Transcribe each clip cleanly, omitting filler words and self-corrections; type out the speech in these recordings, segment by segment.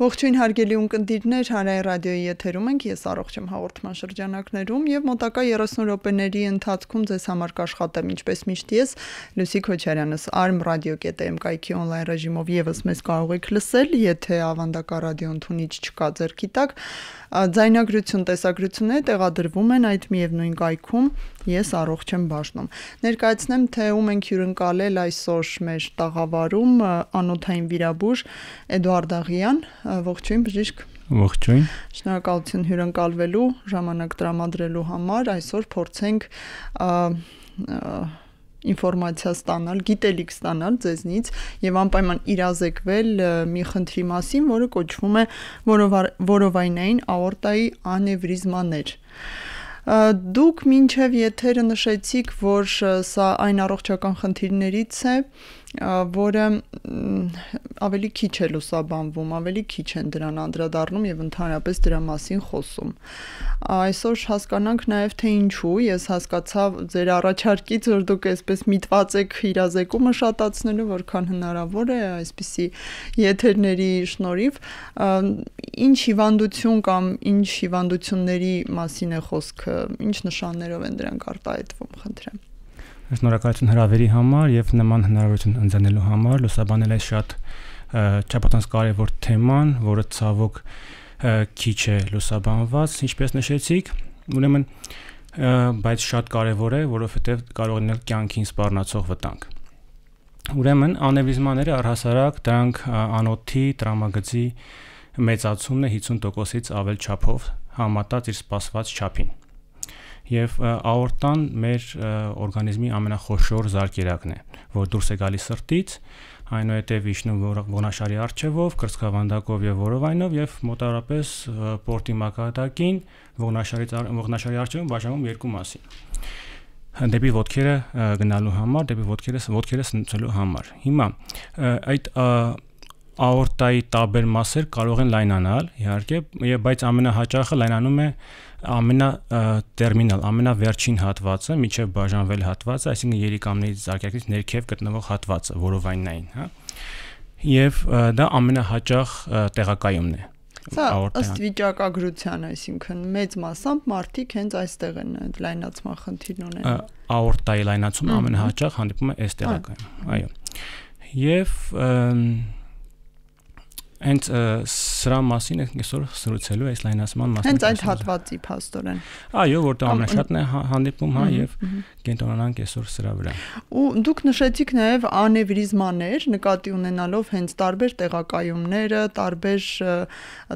Ողջույն հարգելի ունկնդիրներ, Հանրային ռադիոյի եթերում ենք, ես առողջ եմ հաղորդման շրջանակներում եւ մոտակա 30 րոպեների ընթացքում ձեզ համար կաշխատեմ ինչպես միշտ ես Լուսիկ Քոչարյանս arm.radio.am կայքի on-line ռեժիմով եւս մեզ կարող եք լսել, եթե ավանդական ռադիո ընդունիչ չկա ձեռքի տակ, ձայնագրություն, տեսագրությունները տեղադրվում են այդ միևնույն կայքում, ես առողջ եմ բաժնում։ Ներկայացնեմ, թե ում ենք հյուրընկալել այսօր մեր տաղավարում անոթային վիրաբույժ Էդուարդ Աղյան, ողջույն բժիշկ։ Ողջույն։ Շնորհակալություն հյուրընկալվելու, ժամանակ տրամադրելու համար, այսօր փորձենք ինֆորմացիա ստանալ, գիտելիք ստանալ ձեզնից եւ անպայման իրազեկվել մի խնդրի մասին, որը կոչվում է որովայնային աորտայի անևրիզմաներ։ Դուք մինչև եթերը նշեցիք, որ սա այն առողջական խնդիրներից է, որը ավելի քիչ է լուսաբանվում, ավելի քիչ են դրան անդրադառնում եւ ընդհանրապես դրա մասին խոսում։ Այսօր հասկանանք նաեւ թե ինչու, ես հասկացա ձեր առաջարկից, որ դուք այսպես միտված եք իրազեկումը շատացնելու, որքան հնարավոր է այսպիսի եթերների շնորհիվ, ինչ հիվանդություն կամ ինչ հիվանդությունների մասին է խոսքը, ինչ նշաններով են դրանք արտահայտվում, խնդրեմ։ Շնորհակալություն հրավերի համար եւ նման հնարավորություն ընձեռնելու համար, լուսաբանել այս շատ չափազանց կարևոր թեման, որը ցավոք քիչ է լուսաբանված, ինչպես նշեցիք, ուրեմն բայց շատ կարևոր է, որովհետեւ կարող է լինել կյանքին սպառնացող վտանգ։ Ուրեմն անևրիզմաները առհասարակ դրանք անոթի տրամագծի մեծացումն է 50%-ից ավել չափով համատած իր սպասված չափին։ Եվ աորտան մեր օրգանիզմի ամենախոշոր զարկերակն է, որ դուրս է գալիս սրտից, այնուհետև իջնում ողնաշարի առջևով, կրծքավանդակով եւ որովայնով եւ մոտավորապես պորտի մակարդակին ողնաշարի առջևում բաժանվում երկու մասի։ Դեպի ոտքերը գնալու համար, դեպի ոտքերը սնուցելու համար։ Հիմա այդ աորտայի տարբեր մասեր կարող են լայնանալ, իհարկե, բայց ամենահաճախը լայնանում է ամենատերմինալ, ամենավերջին հատվածը, միջև բաժանվել հատվածը, այսինքն երիկամներից զարկերակից ներքև գտնվող հատվածը, որովայնային, հա։ Եվ դա ամենահաճախ տեղակայումն է։ Սա ըստ վիճակագրության, այսինքն մեծ մասամբ մարդիկ հենց այստեղ են լայնացման խնդիր ունենում։ Աորտայի լայնացումը ամենահաճախ հանդիպում է այս տեղակայում, այո։ Եվ հենց սրա մասին ենք այսօր զրուցելու այս լայնացման մասին։ Հենց այդ հատվածի փաստորեն։ Այո, որտեղ ամենաշատն է հանդիպում, հա, եւ կենտրոնանանք այսօր սրա վրա։ Ու դուք նշեցիք նաեւ անևրիզմաներ, նկատի ունենալով հենց տարբեր տեղակայումները, տարբեր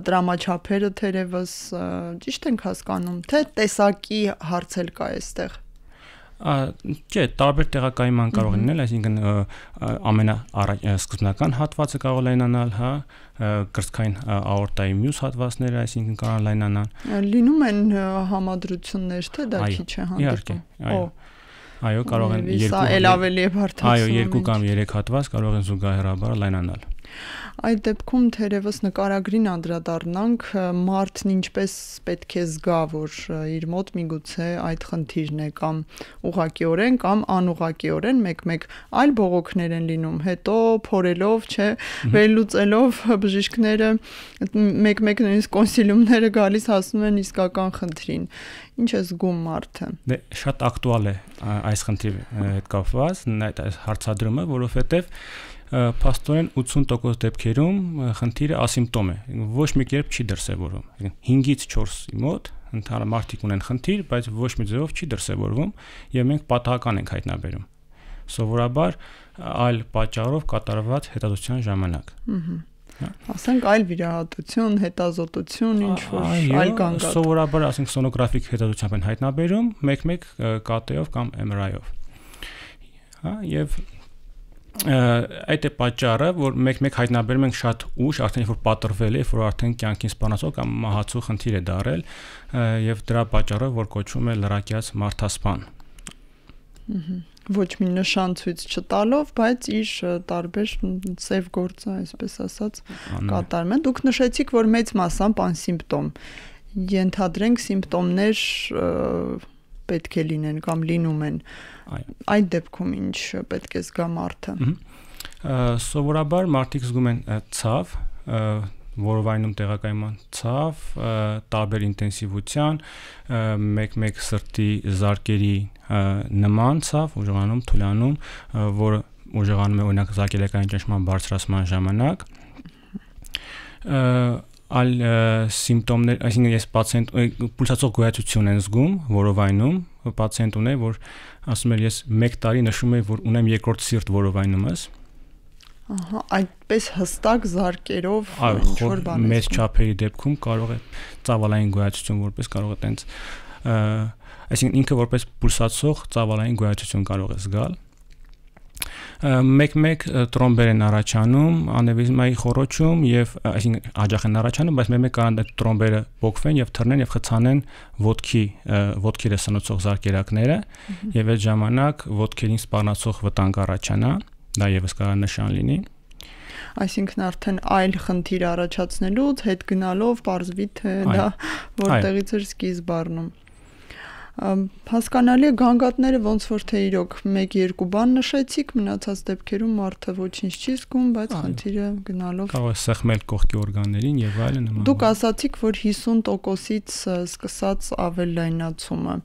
տրամաչափերը թերևս, ճիշտ ենք հասկանում, թե տեսակի հարց էլ կա այստեղ։ Չէ, տարբեր տեղակայման կարող լինել, այսինքն ամենասկզբնական հատվածը կարող լայնանալ, հա, կրծքային աորտայի մյուս հատվածները, այսինքն կարող լայնանալ։ Լինում են համադրություններ, թե դա քիչ է հանդիպում։ Այո, կարող են երկու կամ 3 հատված կարող են զուգահեռաբար լայնանալ։ Այդ դեպքում թերևս նկարագրին անդրադառնանք, մարդն ինչպես պետք է զգա, որ իր մոտ միգուցե այդ խնդիրն է կամ ուղղակիորեն կամ անուղղակիորեն մեկ-մեկ այլ բողոքներ են լինում, հետո փորելով, չէ, վերլուծելով բժիշկները մեկ-մեկ նույնիսկ կոնսիլիումները գալիս հասնում են իսկական խնդրին։ Ինչ է զգում մարդը։ Դե շատ ակտուալ է այս խնդրի հետ կապված այս հարցադրումը, որովհետև փաստորեն 80% դեպքերում խնդիրը ասիմպտոմ է, ոչ մի կերպ չի դրսևորվում։ 5-ից 4-ի մոտ ընդհանուր մարդիկ ունեն խնդիր, բայց ոչ մի ձևով չի դրսևորվում եւ մենք պատահական ենք հայտնաբերում։ Սովորաբար այլ պատճառով կատարված հետազոտության ժամանակ։ Ասենք այլ վիրահատություն, հետազոտություն, ինչ որ այլ կանգ։ Սովորաբար ասենք սոնոգրաֆիկ հետազոտությամբ են հայտնաբերում, մեկ-մեկ ԿՏ-ով կամ MRI-ով։ Հա, եւ այդ է պատճառը, որ մեկ-մեկ հայտնաբերում ենք շատ ուշ, արդեն որ պատրվել է, որ արդեն կյանքին սպառնացող կամ մահացու խնդիր է դարել, եւ դրա պատճառով որ կոչվում է լրակյաց մարդասպան։ Ոչ մի նշան ցույց չտալով, բայց իր տարբեր ծև գործը, այսպես ասած, կատարում են։ Դուք նշեցիք, որ մեծ մասամբ անսիմպտոմ։ Ենթադրենք սիմպտոմներ պետք է լինեն կամ լինում են։ Այդ դեպքում ինչ պետք է զգա մարդը։ Սովորաբար մարդիկ զգում են ցավ, որովայնում տեղակայման ցավ, տարբեր ինտենսիվության, մեկ սրտի զարկերի նման ցավ, ուժեղանում, թուլանում, որը ուժեղանում է օրինակ զարկերակային ճնշման բարձրացման ժամանակ։ Այլ սիմպտոմներ, այսինքն ես պուլսացող գոյացություն են զգում որովայնում, պացիենտ ունի, որ ասում էր ես 1 տարի նշում եմ, որ ունեմ երկրորդ սիրտ որովայնումս։ Ահա, այդպես հստակ զարկերով ինչ որ բան։ Մեծ չափերի դեպքում կարող է ծավալային գոյացություն որպես կարող է տենց, այսինքն ինքը որպես պուլսացող ծավալային գոյացություն կարող է զգալ։ Մեկ տրոմբեր են առաջանում անևրիզմայի խոռոչում եւ այսինքն աջախ են առաջանում, բայց մեկ կարող է տրոմբերը փոկվեն եւ թռնեն եւ խցանեն ոտքերը սնուցող զարկերակները եւ այդ ժամանակ ոտքերին սպառնացող վտանգ առաջանա, դա եւս կարող է նշան լինի։ Այսինքն արդեն այլ խնդիր առաջացնելուց հետ գնալով պարզվի թե դա որտեղից էր սկիզբ առնում։ Հասկանալի է գանգատները ոնց որ թե իրոք 1-2 բան նշեցիք, մնացած դեպքերում մարդը ոչինչ չի զգում, բայց խնդիրը գնալով կարող է սեղմել կողքի օրգաններին եւ այլն նման։ Դուք ասացիք, որ 50%-ից սկսած ավելլայնացումը։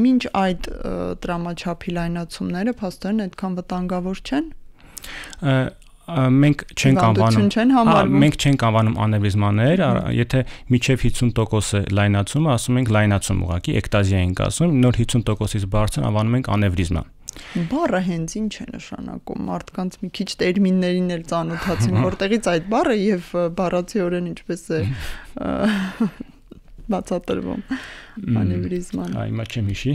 Մինչ այդ տրամաչափի լայնացումները փաստորեն այդքան վտանգավոր չեն։ Մենք չենք անվանում անևրիզմաներ, եթե միջև 50% է լայնացումը, ասում ենք լայնացում ուղղակի, էկտազիա ենք ասում, նոր 50%-ից բարձր անվանում ենք անևրիզմա։ Բառը հենց ինչ է նշանակում, մարդկանց մի քիչ տերմիններին էլ ծանոթացին, որտեղից այդ բառը եւ բառացիորեն ինչպես է բացատրվում անևրիզման։ Հիմա չեմ հիշի։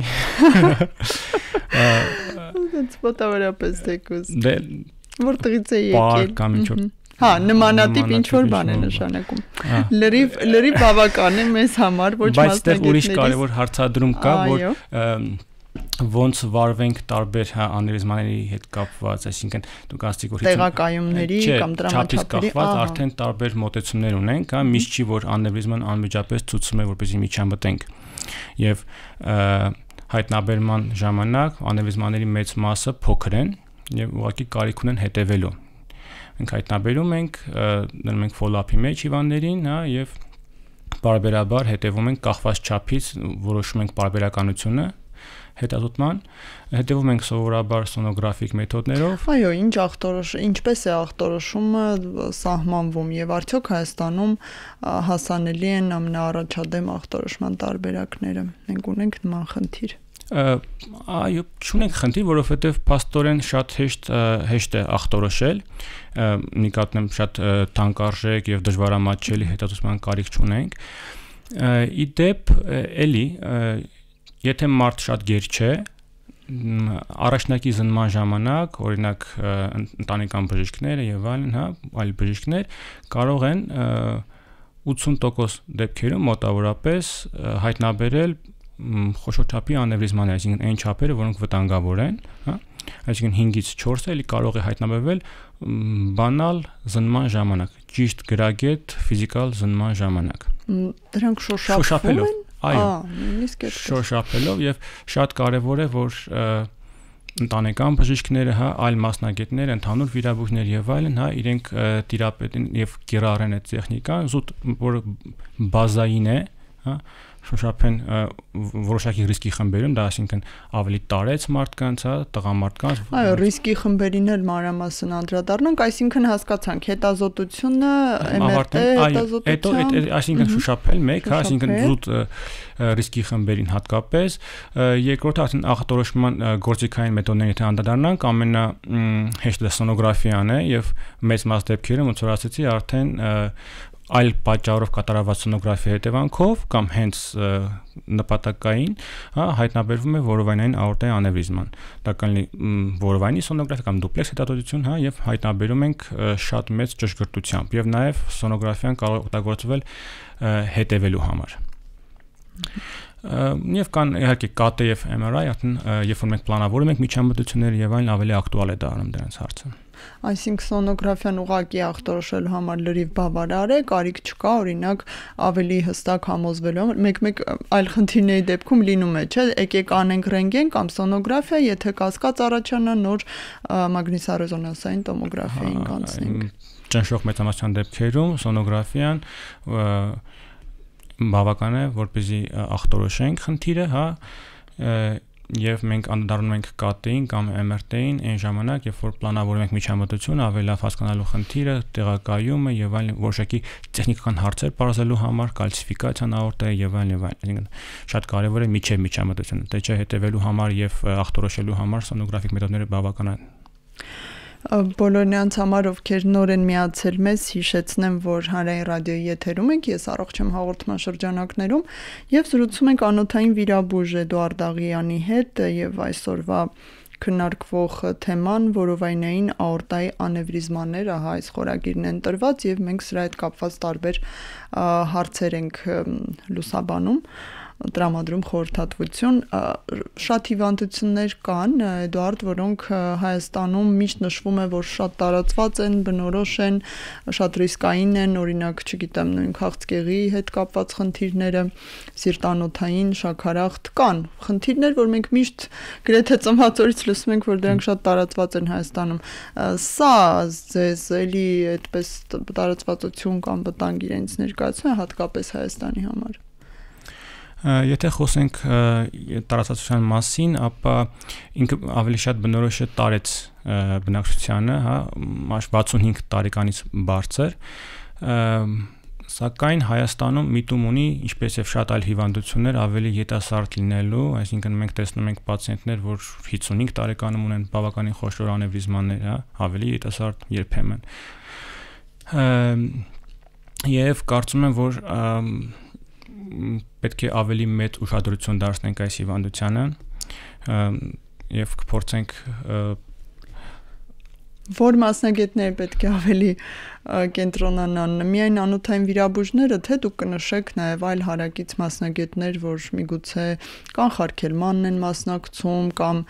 Դա պատահորապես թեկուզ։ Որտեղից է եկել։ Բառ կամ ինչ որ։ Հա, նմանատիպ ինչ որ բան է նշանակում։ Լրիվ բավական է մեզ համար, ոչ մասնագետների։ Բայց ուրիշ կարևոր հարցադրում կա, որ ոնց վարվենք տարբեր անևրիզմաների հետ կապված, այսինքն դուք ասացիք որ տեղակայումների կամ տրամաչափերի արդեն տարբեր մոտեցումներ ունենք, հա, միշտ չի որ անևրիզման անմիջապես ցուցում է որպեսզի միջամտենք։ Եւ հայտնաբերման ժամանակ անևրիզմաների մեծ մասը փոքր են եւ ուղղակի կարիք ունեն հետևելու։ Մենք հայտնաբերում ենք, դնում ենք follow-up-ի մեջ հիվանդներին, հա, եւ բարբերաբար հետևում ենք կախված չափից, որոշում ենք բարբերականությունը հետազոտման, հետևում ենք սովորաբար սոնոգրաֆիկ մեթոդներով։ Այո, ինչպես է ախտորոշումը սահմանվում եւ արդյոք Հայաստանում հասանելի են ամենաառաջադեմ ախտորոշման տարբերակները։ Մենք ունենք նման խնդիր։ Այո, չունենք խնդիր, որովհետև փաստորեն շատ հեշտ է ախտորոշել, նկատեմ շատ թանկարժեք եւ դժվարամատչելի հետազոտման կարիք չունենք։ Իդեպ էլի, եթե մարդ շատ գեր չէ, առաջնակի զննման ժամանակ, օրինակ ընտանեկան բժիշկները եւ այլն, հա, այլ բժիշկներ կարող են 80% դեպքերում մոտավորապես հայտնաբերել խոշոր չափի անևրիզմաներ, այսինքն այն չափերը, որոնք վտանգավոր են, հա, այսինքն 5-ից 4-ը էլի կարող է հայտնաբերվել բանալ զննման ժամանակ, ճիշտ գրագետ ֆիզիկալ զննման ժամանակ։ Դրանք շոշափվում են։ Այո, շոշափելով եւ շատ կարեւոր է, որ ընտանեկան բժիշկները, հա, այլ մասնագետներ, ընդհանուր վիրաբույժներ եւ այլն, հա, իրենք տիրապետեն եւ կիրառեն այդ տեխնիկան, զուտ որ բազային է, հա, շոշափեն որոշակի ռիսկի խմբերում, դա այսինքն ավելի տարեց մարդկանց, հա, տղամարդկանց։ Այո, ռիսկի խմբերին էլ մանրամասն անդրադառնանք, այսինքն հասկացանք հետազոտությունը, MRT հետազոտությունը, այսինքն շոշափել մեկ, հա, այսինքն զուտ ռիսկի խմբերին հատկապես, երկրորդը արդեն ախտորոշման գործիքային մեթոդներին եթե անդրադառնանք, ամենահեշտը սոնոգրաֆիան է եւ մեծ մաս դեպքերում ոնց որ ասացի, արդեն այլ պատճառով կատարված սոնոգրաֆիայի հետևանքով կամ հենց նպատակային, հա, հայտնաբերվում է որովայնային աորտայի անևրիզման։ Դա կլինի որովայնի սոնոգրաֆիա կամ դուպլեքս հետազոտություն, հա, եւ հայտնաբերում ենք շատ մեծ ճշգրտությամբ եւ նաեւ սոնոգրաֆիան կարող է օգտագործվել հետևելու համար։ Եվ կան իհարկե CT եւ MRI, արդեն երբ որ մենք պլանավորում ենք միջամտությունները եւ այլն ավելի ակտուալ է դառնում դրանց հարցը։ Այսինքն սոնոգրաֆիան ուղղակի ախտորոշելու համար լրիվ բավարար է, կարիք չկա, օրինակ ավելի հստակ համոզվելու համար, մեկ այլ խնդիրների դեպքում լինում է, չէ՞, եկեք անենք ռենտգեն կամ սոնոգրաֆիա, եթե կասկած առաջանա, նոր մագնիսառեզոնանսային տոմոգրաֆիային կանցնենք։ Ճնշող մեծամասնության դեպքերում սոնոգրաֆիան բավական է, որպեսզի ախտորոշենք խնդիրը, հա, եւ մենք անդրադառնում ենք CT-ին կամ MRT-ին այն ժամանակ, երբ որ պլանավորում ենք միջամտություն, ավելի լավ հասկանալու խնդիրը, տեղակայումը եւ այլն, որոշակի տեխնիկական հարցեր բարձրելու համար, կալցիֆիկացիան աորտայի եւ այլն եւ այլն։ Այսինքն շատ կարեւոր է միջև միջամտությունը, թե չէ հետեւելու համար եւ ախտորոշելու համար սոնոգրաֆիկ մեթոդները բավական են։ Բոլորնյանց համար, ովքեր նոր են միացել մեզ, հիշեցնեմ, որ Հանրային ռադիոյի եթերում ենք, ես առողջ եմ հաղորդման շրջանակներում եւ զրուցում ենք անոթային վիրաբույժ Էդուարդ Աղյանի հետ եւ այսօրվա քննարկվող թեման որովայնային աորտայի անևրիզմաներ, ահա այս խորագիրն են տրված եւ մենք սրա հետ կապված տարբեր հարցեր ենք լուսաբանում, տրամադրում խորհրդատվություն, շատ հիվանդություններ կան, Էդուարդ, որոնք Հայաստանում միշտ նշվում է, որ շատ տարածված են, բնորոշ են, շատ ռիսկային են, օրինակ, չգիտեմ, նույն քաղցկեղի հետ կապված խնդիրները, սիրտանոթային, շաքարախտ կան խնդիրներ, որ մենք միշտ գրեթե ծնվածորից լսում ենք, որ դրանք շատ տարածված են Հայաստանում։ Սա ձեզ էլի այդպես տարածվածություն կամ վտանգ իրենց ներկայացնում է հատկապես Հայաստանի համար։ Եթե խոսենք տարածացության մասին, ապա ինքը ավելի շատ բնորոշ է տարեց բնակչությանը, հա, 65 տարեկանից բարձր, սակայն Հայաստանում միտում ունի, ինչպես եւ շատ այլ հիվանդություններ, ավելի ետասարդ լինելու, այսինքն մենք տեսնում ենք պացիենտներ, որ 55 տարեկանում ունեն բավականին խոշոր անևրիզմաններ, հա, ավելի ետասարդ երբեմն։ Եվ կարծում եմ, որ պետք է ավելի մեծ ուշադրություն դարձնենք այս հիվանդությանը եւ կփորձենք որ մասնագետները պետք է ավելի կենտրոնանան, միայն անոթային վիրաբույժները, թե դուք կնշեք նաեւ այլ հարակից մասնագետներ, որ միգուցե կանխարգելմանն են մասնակցում կամ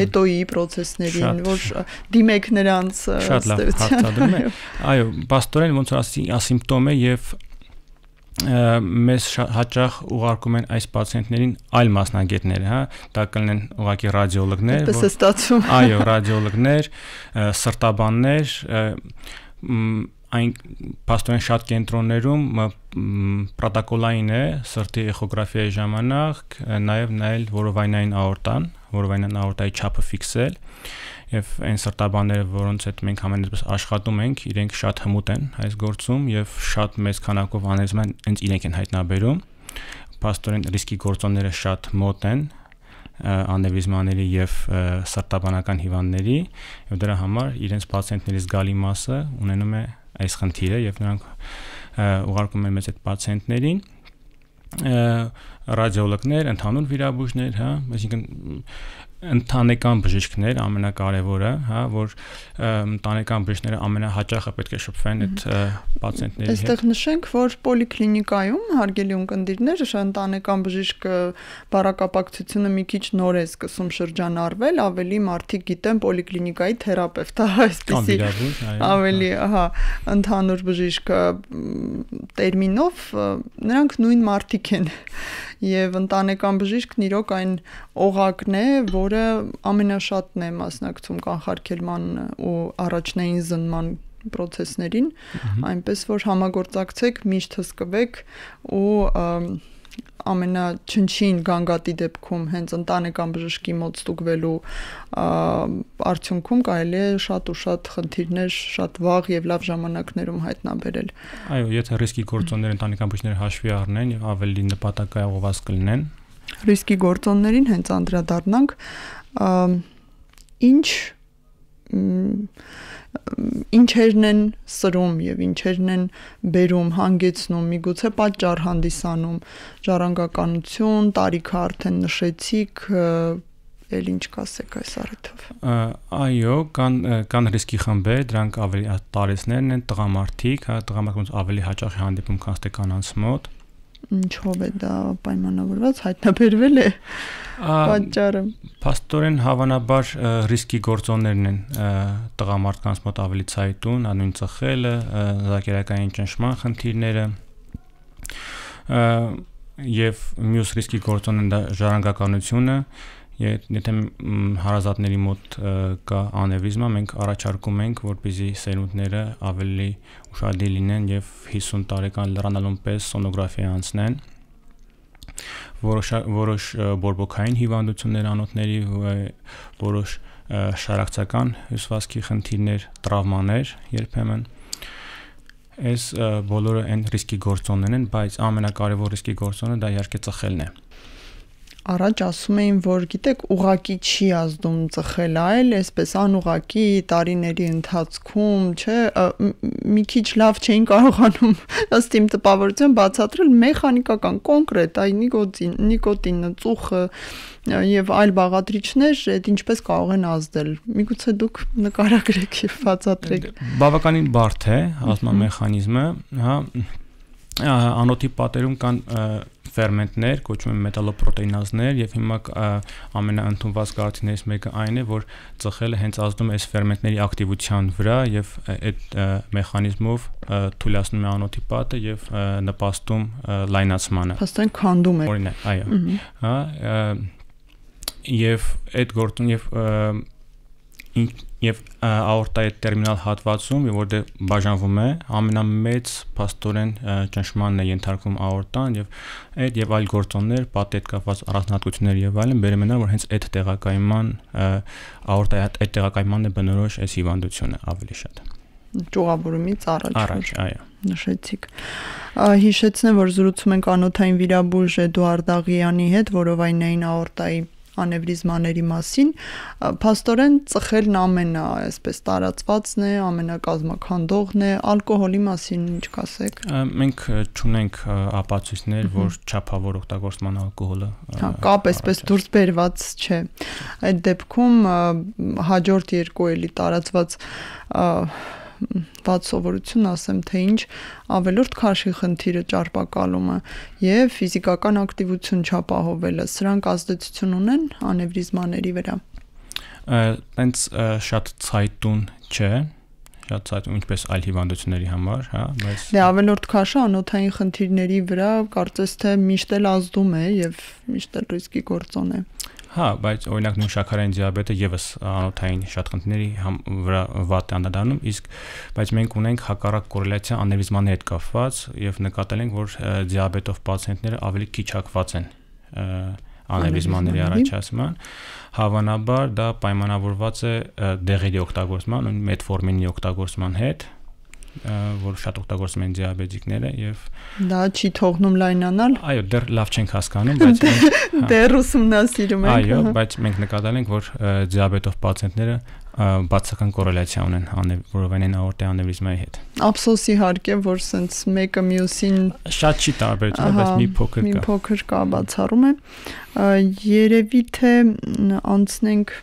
հետոյի process-ներին, որ դիմեք նրանց շատ լավ հարցադրում է։ Այո, բաստորեն ոնց որ ասիմպտոմ է եւ մեզ հաճախ ուղարկում են այս պացիենտներին այլ մասնագետներ, հա, դա կլինեն ուղղակի ռադիոլոգներ, այդպես է ստացվում։ Այո, ռադիոլոգներ, սրտաբաններ, այն պաստորեն շատ կենտրոններում պրոտոկոլային է սրտի էխոգրաֆիայի ժամանակ նաև նայել որովայնային աորտայի չափը ֆիքսել եւ այն սրտաբանները, որոնց հետ մենք համենայնպես աշխատում ենք, իրենք շատ հմուտ են այս գործում եւ շատ մեծ քանակով անևրիզման հենց իրենք են հայտնաբերում։ Պաստորեն ռիսկի գործոնները շատ մոտ են անևրիզմաների եւ սրտաբանական հիվանդների եւ դրա համար իրենց պացիենտների զգալի մասը ունենում է այս խնդիրը եւ նրանք ուղարկում են մեզ այդ պացիենտներին ռադիոլոգներ, ընդհանուր վիրաբույժներ, հա, այսինքն ընտանեկան բժիշկներ ամենակարևորը, հա, որ ընտանեկան բժիշկները ամենահաճախը պետք է շփվեն այդ պացիենտների հետ։ Այստեղ նշենք, որ պոլիկլինիկայում հարգելի ունկնդիրներ, ընտանեկան բժիշկը բառակապակցությունը մի քիչ նոր է սկսում շրջանառվել, ավելի մարդիկ գիտեն պոլիկլինիկայի թերապևտ, այսպեսի ավելի, ահա, ընդհանուր բժիշկը տերմինով, նրանք նույն մարդիկ են։ Եվ ընտանեկան բժիշկն իրոք այն օղակն է, որը ամենաշատն է մասնակցում կանխարգելման ու առաջնային զննման process-ներին, այնպես որ համագործակցեք, միշտ հսկվեք ու ամենաչնչին գանգատի դեպքում հենց ընտանեկան բժշկի մոտ ստուգվելու արդյունքում կարելի է շատ ու շատ խնդիրներ շատ վաղ եւ լավ ժամանակներում հայտնաբերել։ Այո, եթե ռիսկի գործոնները ընտանեկան բժիշկները հաշվի առնեն եւ ավելի նպատակայողված կլինեն։ Ռիսկի գործոններին հենց անդրադառնանք, ինչերն են սրում եւ ինչերն են բերում, հանգեցնում, միգուցե պատճառ հանդիսանում, ժառանգականություն, տարիքը արդեն նշեցիք, էլ ինչ կասեք այս առիթով։ Այո, կան ռիսկի խմբեր, դրանք ավելի տարեցներն են, տղամարդիկ, հա, տղամարդկանց ավելի հաճախ է հանդիպում քան կանանց մոտ։ Ինչով է դա պայմանավորված, հայտնաբերվել է պատճառը։ Փաստորեն հավանաբար ռիսկի գործոններն են տղամարդկանց մոտ ավելի ցայտուն, անույն ծխելը, զակերակային ճնշման խնդիրները եւ մյուս ռիսկի գործոնն է դա ժառանգականությունը։ Եթե հարազատների մոտ կա անևրիզմա, մենք առաջարկում ենք, որպեսզի սերունդները ավելի ուշադիր լինեն եւ 50 տարեկան լրանալուն պես սոնոգրաֆիա անցնեն։ Որոշ բորբոքային հիվանդություններ անոթների, որոշ շարակցական հյուսվածքի խնդիրներ, տրավմաներ երբեմն այս բոլորը այն ռիսկի գործոններն են, բայց ամենակարևոր ռիսկի գործոնը դա իհարկե ծխելն է։ Առաջ ասում էին, որ գիտեք, ուղակի չի ազդում ծխել, այլ այսպես անուղակի տարիների ընթացքում, չէ, մի քիչ լավ չէին կարողանում ըստ իմ տպավորության բացատրել մեխանիկական կոնկրետ այ նիկոտինը, ծուխը եւ այլ բաղադրիչներ, այդ ինչպես կարող են ազդել։ Միգուցե դուք նկարագրեք եւ բացատրեք։ Բավականին բարդ է ազդման մեխանիզմը, հա, անոթի պատերում կան ֆերմենտներ, կոչվում են մետալոպրոտեինազներ եւ հիմա ամենաընդունված կարծիքներից մեկը այն է, որ ծխելը հենց ազդում է այս ֆերմենտների ակտիվության վրա եւ այդ մեխանիզմով թույլատնում է անոթի պատը եւ նպաստում լայնացմանը։ Փաստորեն քանդում է։ Օրինակ, այո։ Հա, եւ այդ գործուն եւ աորտայի տերմինալ հատվածում, որտեղ բաժանվում է, ամենամեծ փաստորեն ճնշմանն է ենթարկվում աորտան եւ այդ եւ այլ գործոններ, պատի հետ կապված առանձնահատկություններ եւ այլն բերում են, որ հենց այդ տեղակայման աորտայի այդ տեղակայմանն է բնորոշ այս հիվանդությունը ավելի շատ։ Ճյուղավորումից առաջ, այո։ Նշեցիք։ Հիշեցնեմ, որ զրուցում ենք անոթային վիրաբույժ Էդուարդ Աղյանի հետ, որովայնային աորտայի անևրիզմաների մասին, փաստորեն ծխելն այսպես տարածվածն է, ամենակազմաքանդողն է, ալկոհոլի մասին ինչ կասեք։ Մենք չունենք ապացույցներ, որ չափավոր օգտագործման ալկոհոլը կապ այսպես դուրս բերված չէ։ Այդ դեպքում հաջորդ երկու էլի տարածված բաց սովորություն ասեմ, թե ինչ ավելորդ քաշի խնդիրը ճարպակալումը եւ ֆիզիկական ակտիվություն չապահովելը, սրանք ազդեցություն ունեն անևրիզմաների վրա։ Տենց շատ ցայտուն չէ, շատ ցայտուն ինչպես այլ հիվանդությունների համար, հա, բայց դե ավելորդ քաշը անոթային խնդիրների վրա կարծես թե միշտ էլ ազդում է եւ միշտ էլ ռիսկի գործոն է։ Հա, բայց օրինակ նույն շաքարային դիաբետը եւս անոթային շատ խնդիրների վրա վատ է անդրադառնում, իսկ բայց մենք ունենք հակառակ կորելացիա անևրիզմանների հետ կապված եւ նկատել ենք, որ դիաբետով պացիենտները ավելի քիչ հակված են անևրիզմանների առաջացման։ Հավանաբար դա պայմանավորված է դեղերի օգտագործման, մետֆորմինի օգտագործման հետ, որ շատ օգտագործում են դիաբետիկները եւ դա չի թողնում լայնանալ։ Այո, դեռ լավ չենք հասկանում, բայց դեռ ուսումնասիրում ենք։ Այո, բայց մենք նկատել ենք, որ դիաբետով պացիենտները բացական կորելացիա ունեն որովայնային աորտայի անևրիզմայի հետ։ Ափսոսի հարկ է, որ սենց մեկը մյուսին շատ չի տարբերություն, բայց մի փոքր կա։ Մի փոքր կա, բացառում է։ Երևի թե անցնենք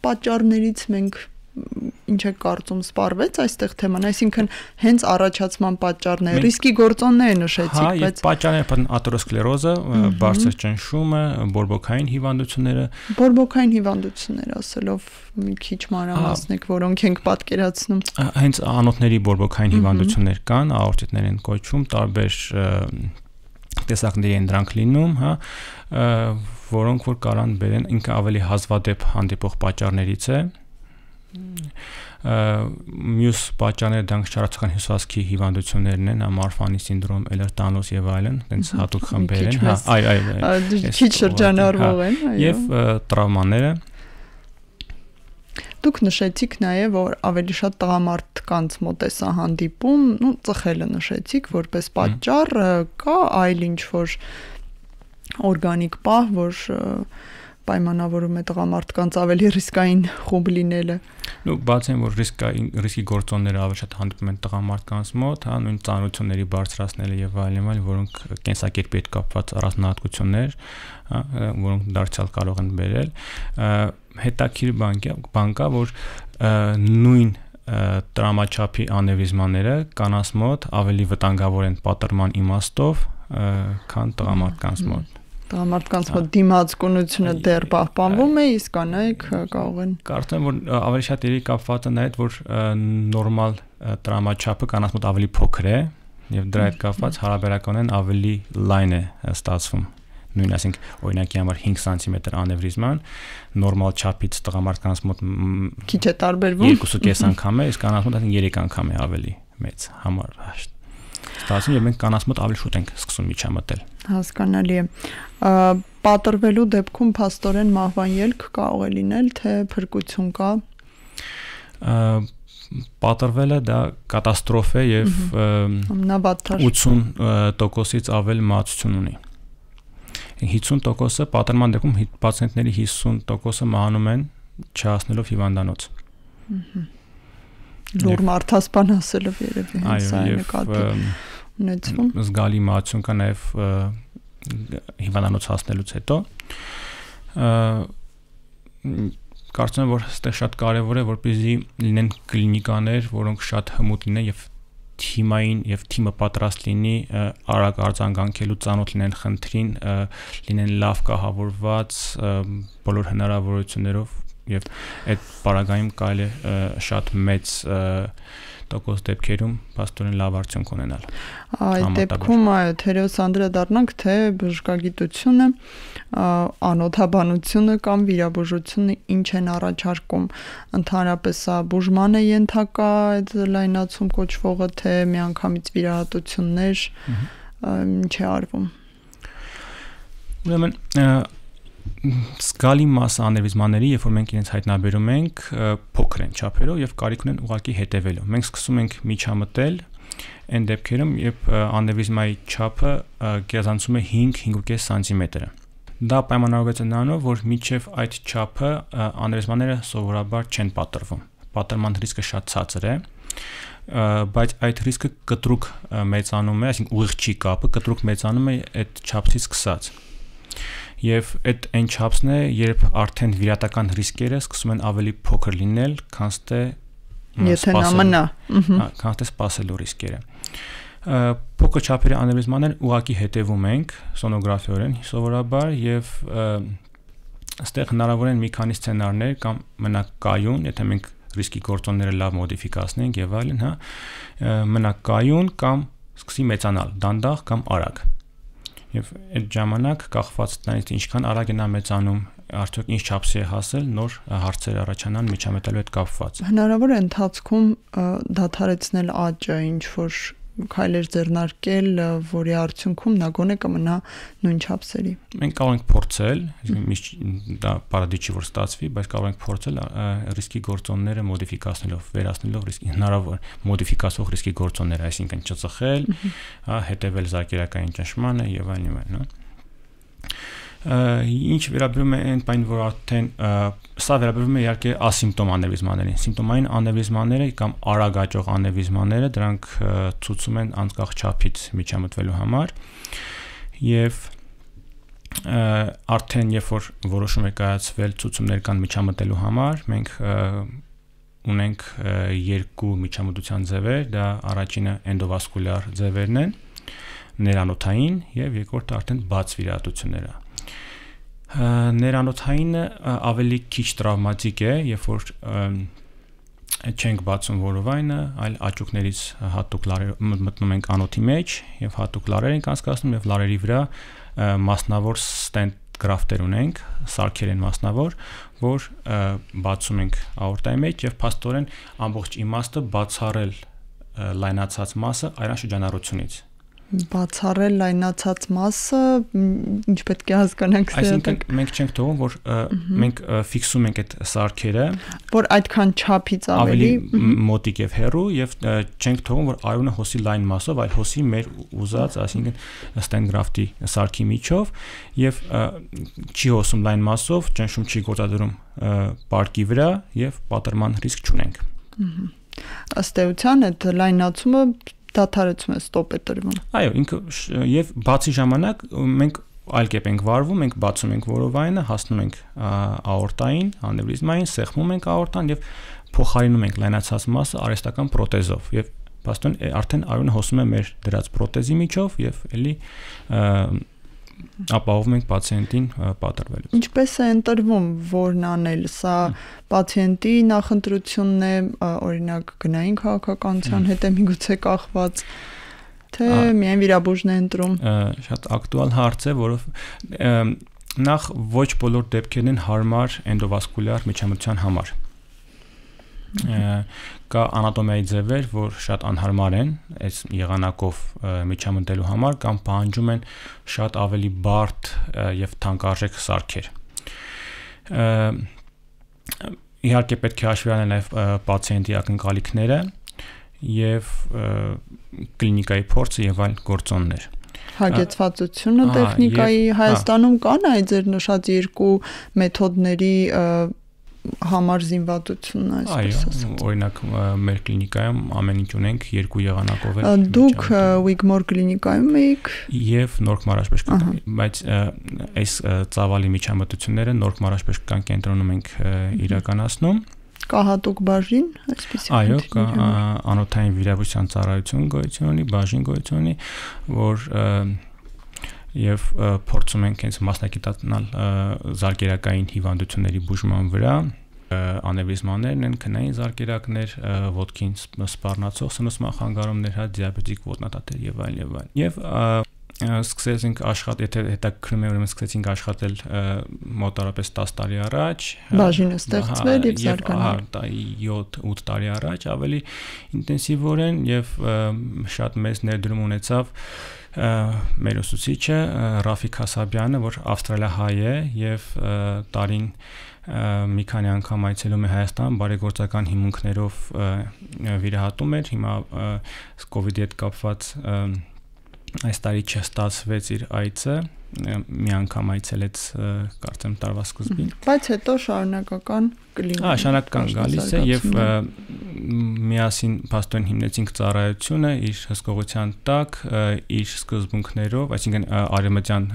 պատճառներից մենք ինչ է կարծում սպառվեց այստեղ թեման, այսինքն հենց առաջացման պատճառն է, ռիսկի գործոնները նշեցիք, բայց եւ պատճառները աթերոսկլերոզը, բարձր ճնշումը, բորբոքային հիվանդությունները ասելով մի քիչ մանրամասնեք, որոնք ենք պատկերացնում։ Հենց անոթների բորբոքային հիվանդություններ կան, աորտիտներ են կոչվում, տարբեր տեսակների են դրանք լինում, հա, որոնք որ կարան բերեն ինքը ավելի հազվադեպ հանդիպող պատճառներից է։ Մյուս պատճառները դրանք շարացական հյուսվածքի հիվանդություններն են, Մարֆանի սինդրոմ, Էլերտանոս եւ այլն, այնց հատուկ խմբեր են, հա, այո, քիչ շրջանառվող են, այո։ Եվ տրավմաները։ Դուք նշեցիք նաեւ, որ ավելի շատ տղամարդկանց մոտ է սա հանդիպում, ծխելը նշեցիք որպես պատճառ, կա այլ ինչ որ օրգանիկ պահ, որ պայմանավորում է տղամարդկանց ավելի ռիսկային խումբ լինելը։ Բացի այն, որ ռիսկի գործոնները ավելի շատ հանդիպում են տղամարդկանց մոտ, հա, նույն ծանրությունների բարձրացնելը եւ այլն, որոնք կենսակերպի հետ կապված առանձնահատկություններ, հա, որոնք դարձյալ կարող են բերել։ Հետաքրքիր բան կա, որ նույն տրամաչափի անևրիզմաները կանանց մոտ ավելի վտանգավոր են պատրման իմաստով, քան տղամարդկանց մոտ։ Տղամարդկանց մոտ դիմացկունությունը դեռ պահպանվում է, իսկ կանայք կարող են։ Կարծեմ, որ ավելի շատ երևի կապված է նաև, որ նորմալ տրամաչափը կանանց մոտ ավելի փոքր է, եւ դրա հետ կապված հարաբերականորեն ավելի լայն է ստացվում։ Նույն ասենք օրինակի համար 5 սանտիմետր անևրիզման նորմալ չափից տղամարդկանց մոտ քիչ է տարբերվում 2.5 անգամ է, իսկ կանանց մոտ 3 անգամ է ավելի մեծ համար ստացվում եւ մենք կանանց մոտ ավելի շուտ ենք սկսում միջամտել։ Հասկանալի է։ Պատրվելու դեպքում փաստորեն մահվան ելք կարող է լինել, թե փրկություն կա։ Պատրվելը դա կատաստրոֆ է եւ 80%-ից ավել մահացություն ունի։ 50%-ը պատրման դեպքում պացիենտների 50%-ը մահանում են չհասնելով հիվանդանոց։ Լուր մարդասպան ասելով երևի հենց այն նկատի ունեցվում։ Զգալի մահացություն կա նաև հիվանդանոց հասնելուց հետո։ Կարծում եմ, որ այստեղ շատ կարևոր է, որպեսզի լինեն կլինիկաներ, որոնք շատ հմուտ լինեն եւ թիմային եւ թիմը պատրաստ լինի արագ արձագանքելու, ծանոթ լինեն խնդրին, լինեն լավ կահավորված բոլոր հնարավորություններով եւ այդ պարագայում կարելի է շատ մեծ տոկոս դեպքերում փաստորեն լավ արդյունք ունենալ։ Այդ դեպքում թերևս անդրադառնանք, թե բժշկագիտությունը, անօթաբանությունը կամ վիրաբուժությունը ինչ են առաջարկում, ընդհանրապես բուժման է ենթակա այդ լայնացում կոչվողը, թե միանգամից վիրահատություններ, ինչ է արվում։ Ուրեմն զգալի մասը անևրիզմաների, երբ որ մենք իրենց հայտնաբերում ենք, փոքր են չափերով եւ կարիք ունեն ուղղակի հետևելու։ Մենք սկսում ենք միջամտել այն դեպքերում, երբ անևրիզմայի չափը գերազանցում է 5-5.5 սանտիմետր։ Դա պայմանավորված է նրանով, որ մինչև այդ չափը անևրիզմաները սովորաբար չեն պատրվում։ Պատրման ռիսկը շատ ցածր է, բայց այդ ռիսկը կտրուկ մեծանում է, այսինքն ուղիղ չի կապը, կտրուկ մեծանում է այդ չափից սկսած։ Եվ այդ այն չափսն է, երբ արդեն վիրատական ռիսկերը սկսում են ավելի փոքր լինել, քան թե սպասելու ռիսկերը։ Փոքր չափերի անևրիզմաններ ուղղակի հետևում ենք սոնոգրաֆիորեն սովորաբար եւ այստեղ հնարավոր են մի քանի սցենարներ կամ մնաք կայուն, եթե մենք ռիսկի գործոնները լավ մոդիֆիկացնենք եւ այլն, մնաք կայուն կամ սկսի մեծանալ, դանդաղ կամ արագ։ Եվ այդ ժամանակ կախված դրանից ինչքան արագ է նա մեծանում, արդյոք ինչ չափսի է հասել, նոր հարցեր առաջանան միջամտելու հետ կապված։ Հնարավոր է ընթացքում դադարեցնել աճը, ինչ որ քայլեր ձեռնարկել, որի արդյունքում նա գոնե կմնա նույն չափսերի։ Մենք կարող ենք փորձել, դա պարադի չի որ ստացվի, բայց կարող ենք փորձել ռիսկի գործոնները մոդիֆիկացնելով, վերացնելով ռիսկի հնարավոր մոդիֆիկացող ռիսկի գործոնները, այսինքն չծխել, հետևել զարկերակային ճնշմանը եւ այլն, Ինչ վերաբերում է այն բան, որ արդեն սա վերաբերում է իհարկե ասիմպտոմ անևրիզմաներին։ Սիմպտոմային անևրիզմաները կամ արագ աճող անևրիզմաները դրանք ցույցում են անկախ չափից միջամտվելու համար եւ արդեն երբ որ որոշում է կայացվել ցուցումներ կան միջամտելու համար, մենք ունենք երկու միջամտության ձևեր, դա առաջինը էնդովասկուլյար ձևերն են, ներանոթային եւ երկրորդը արդեն բաց վիրահատությունները։ Ներանոթայինը ավելի քիչ տրավմատիկ է, երբ որ չենք բացում որովայնը, այլ աճուկներից հատուկ մտնում ենք անոթի մեջ եւ հատուկ լարեր ենք անցկացնում եւ լարերի վրա մասնավոր ստենտ գրաֆտեր ունենք, սարքեր են մասնավոր, որ բացում ենք աորտայի մեջ եւ փաստորեն ամբողջ իմաստը բացառել լայնացած մասը այրան շրջանառությունից։ Բացառել լայնացած մասը, ինչ պետք է հասկանանք սա։ Այսինքն մենք չենք թողում, որ մենք ֆիքսում ենք այդ սարքերը, որ այդքան չափից ավելի մոտիկ եւ հեռու եւ չենք թողում, որ արյունը հոսի լայն մասով, այլ հոսի մեր ուզած, այսինքն ստենգրաֆտի սարքի միջով եւ չի հոսում լայն մասով, ճնշում չի գործադրում պարկի վրա եւ պատրման ռիսկ չունենք։ Ըստ էության այդ լայնացումը դադարեցում է, ստոպ է տրվում։ Այո, ինքը եւ բացի ժամանակ մենք այլ կերպ ենք վարվում, մենք բացում ենք որովայնը, հասնում ենք աորտային, անևրիզմային, սեղմում ենք աորտան եւ փոխարինում ենք լայնացած մասը արհեստական պրոթեզով եւ բաստոն արդեն արյունը հոսում է մեր դրած պրոթեզի միջով եւ էլի ապահովում ենք պացիենտին պատրվելուց։ Ինչպես է ընտրվում որն անել, սա պացիենտի նախընտրությունն է, օրինակ գնային քաղաքականության հետ է միգուցե կախված, թե միայն վիրաբույժն է ընտրում։ Շատ ակտուալ հարց է, որով նախ ոչ բոլոր դեպքերն են հարմար էնդովասկուլյար միջամտության համար։ Կա անատոմիայի ձևեր, որ շատ անհարմար են այս եղանակով միջամտելու համար կամ պահանջում են շատ ավելի բարդ եւ թանկարժեք սարքեր։ Իհարկե պետք է հաշվի առնել նաեւ պացիենտի ակնկալիքները եւ կլինիկայի փորձը եւ այլ գործոններ։ Հագեցվածությունը տեխնիկայի Հայաստանում կան այդ ձեր նշած երկու մեթոդների համար զինվատությունն այսպես ասած։ Այո, օրինակ մեր կլինիկայում ամեն ինչ ունենք երկու եղանակով է։ Դուք Wigmore կլինիկայում եք եւ Նորք Մարաշպեշկան, բայց այս ծավալի միջամտությունները Նորք Մարաշպեշկան կենտրոնում ենք իրականացնում։ Կա հատուկ բաժին, այսպես։ Այո, կա անոթային վիրաբույժության ծառայություն գոյություն ունի, բաժին գոյություն ունի, որ եւ փորձում ենք հենց մասնագիտացնել զարգերակային հիվանդությունների բուժման վրա, անևրիզմաներն են, քնային զարգերակներ, ոտքին սպառնացող սնուցման խանգարումներ, դիաբետիկ ոտնատատեր եւ այլն եւ այլն։ Եվ սկսեցինք եթե հետաքրքրում է, ուրեմն սկսեցինք աշխատել մոտավորապես 10 տարի առաջ։ Բաժինը ստեղծվել եւ զարգանել։ 7-8 տարի առաջ ավելի ինտենսիվորեն եւ շատ մեծ ներդրում ունեցավ մեր ուսուցիչը Ռաֆիկ Հասաբյանը, որ ավստրալիահայ է եւ տարին մի քանի անգամ այցելում է Հայաստան, բարեգործական հիմունքներով վիրահատում էր, հիմա COVID-ի հետ կապված այս տարի չստացվեց իր այցը, մի անգամ այցելեց կարծեմ տարվա սկզբին։ Բայց հետո շարունակական կլինի։ Շարունակական գալիս է եւ միասին փաստորեն հիմնեցինք ծառայությունը իր հսկողության տակ, իր սկզբունքներով, այսինքն արևմտյան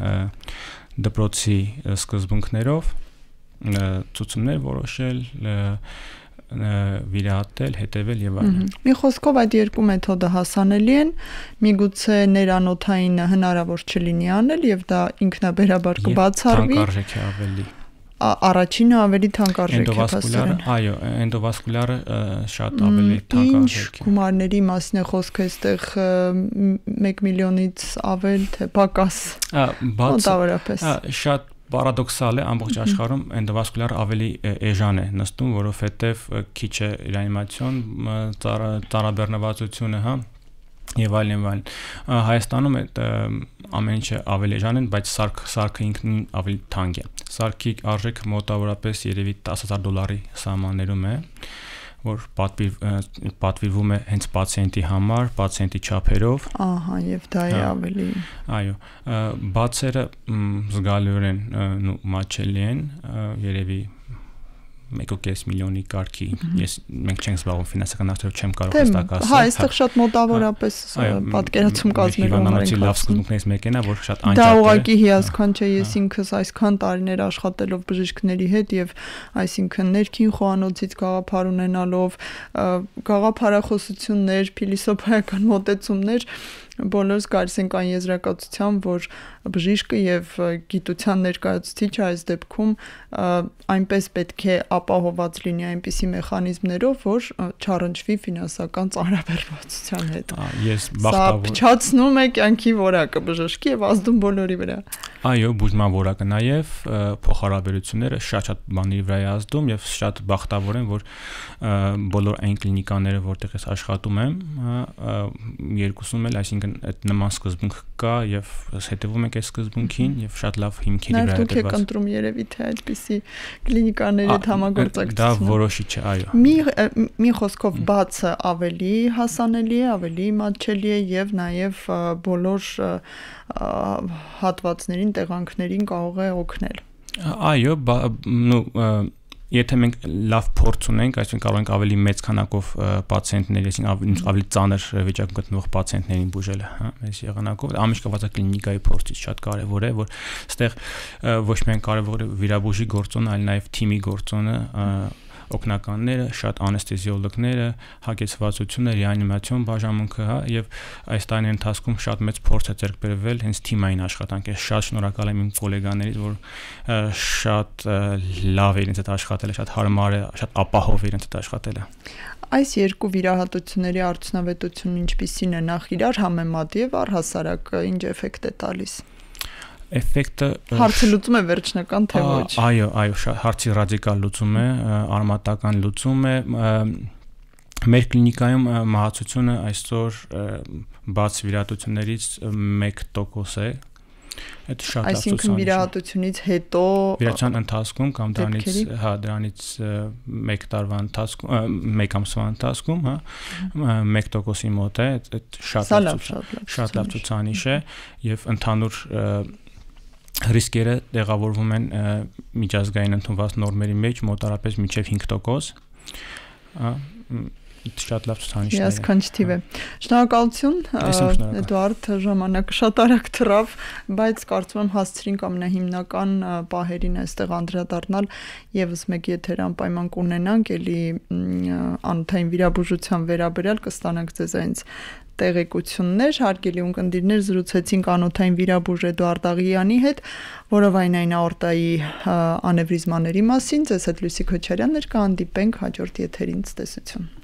դպրոցի սկզբունքներով ցուցումներ որոշել, վիրահատել, հետևել եւ այլն։ Մի խոսքով այդ երկու մեթոդը հասանելի են, միգուցե ներանոթային հնարավոր չլինի անել եւ դա ինքնաբերաբար կբացառվի։ Թանկարժեք է ավելի։ Առաջինը ավելի թանկարժեք է փաստորեն։ Այո, էնդովասկուլյարը շատ ավելի թանկարժեք է։ Գումարների մասին է խոսքը, այստեղ 1 միլիոնից ավել թե պակաս։ Մոտավորապես։ Շատ պարադոքսալ է, ամբողջ աշխարհում էնդովասկուլյար ավելի էժան է նստում, որովհետև քիչ է ռեանիմացիոն ծառաբեռնվածությունը, հա, եւ այլն եւ այլն։ Հայաստանում ամեն ինչը ավելի էժան են, բայց սարքը ինքնին ավելի թանկ է։ Սարքի արժեքը մոտավորապես երևի $10,000 սահմաններում է, որ պատվիրվում է հենց պացիենտի համար, պացիենտի չափերով։ Ահա, եւ դա է ավելի։ Այո, բացերը զգալիորեն մատչելի են, երևի 1.5 միլիոնի կարգի։ Մենք չենք զբաղվում ֆինանսական արդյունքով, չեմ կարող հստակ ասել։ Հա, այստեղ շատ մոտավորապես պատկերացում կազմելու համար լավ սկզբունքներից մեկն է, որ շատ անջատ է։ Դա ուղղակի հիասքանչ է, ես ինքս այսքան տարիներ աշխատելով բժիշկների հետ եւ այսինքն ներքին խոհանոցից գաղափար ունենալով, գաղափարախոսություններ, փիլիսոփայական մոտեցումներ, բոլորս գալիս ենք այն եզրակացության, որ բժիշկը եւ գիտության ներկայացուցիչը այս դեպքում այնպես պետք է ապահոված լինի այնպիսի մեխանիզմներով, որ չառնչվի ֆինանսական ծանրաբեռնվածության հետ։ Ես բախտավոր։ Սա փչացնում է կյանքի որակը բժշկի եւ ազդում բոլորի վրա։ Այո, բուժման որակը նաեւ փոխհարաբերությունները շատ բաների վրա է ազդում եւ շատ բախտավոր եմ, որ բոլոր այն կլինիկաները, որտեղ ես աշխատում եմ, երկուսում էլ, այսինքն այդ նման սկզբունք կա եւ հետևում ենք այս սկզբունքին եւ շատ լավ հիմքերի վրա է դրված։ Դուք եք ընտրում երևի թե այդպիսի կլինիկաների հետ համագործակցություն։ Դա որոշիչ է, այո։ Մի խոսքով բացը ավելի հասանելի է, ավելի մատչելի է եւ նաեւ բոլոր հատվածներին, տեղանքներին կարող է օգնել։ Այո, Եթե մենք լավ փորձ ունենք, այսինքն կարող ենք ավելի մեծ քանակով պացիենտների, այսինքն ավելի ծանր վիճակում գտնվող պացիենտներին բուժել, հա, այս եղանակով, ամիշ կվազա կլինիկայի փորձից շատ կարևոր է, որ այստեղ ոչ միայն կարևոր է վիրաբուժի գործոնը, այլ նաև թիմի գործոնը, օգնականները, շատ անեստեզիոլոգները, հագեցվածությունը, ռեանիմացիոն բաժանմունքը, հա, եւ այս տարիների ընթացքում շատ մեծ փորձ է ձեռք բերվել հենց թիմային աշխատանք է։ Շատ շնորհակալ եմ իմ գոլեգաներից, որ շատ լավ է իրենց հետ աշխատելը, շատ հարմար է, շատ ապահով է իրենց հետ աշխատելը։ Այս երկու վիրահատությունների արդյունավետությունն ինչպիսին է նախ իրար համեմատ եւ առհասարակ ինչ էֆեկտ է տալիս։ Էֆեկտը հարցը լուծում է վերջնական թե ոչ։ Այո, հարցի ռադիկալ լուծում է, արմատական լուծում է։ Մեր կլինիկայում մահացությունը այսօր բաց վիրահատություններից 1% է։ Այդ շատ լավ ցուցանիշ է։ Այսինքն վիրահատությունից հետո վիրահատության ընթացքում կամ դրանից 1 տարվա ընթացքում, 1 ամսվա ընթացքում, հա, 1%-ի մոտ է, այդ շատ լավ ցուցանիշ է եւ ընդհանուր ռիսկերը տեղավորվում են միջազգային ընդունված նորմերի մեջ մոտարապես մինչև 5%, շատ լավ ցուցանիշ է։ Հիասքանչ թիվ է։ Շնորհակալություն, Էդուարդ, ժամանակը շատ արագ թռավ, բայց կարծում եմ հասցրինք ամենահիմնական պահերին այստեղ անդրադառնալ, եւս մեկ եթեր անպայման կունենանք, էլի անոթային վիրաբուժության վերաբերյալ կստանանք ձեզանից տեղեկություններ, հարգելի ունկնդիրներ, զրուցեցինք անոթային վիրաբույժ Էդուարդ Աղիյանի հետ, որովայնային աորտայի անևրիզմաների մասին, ձեզ հետ Լուսի Քոչարյանն էր, կհանդիպենք հաջորդ եթերին, ցտեսություն։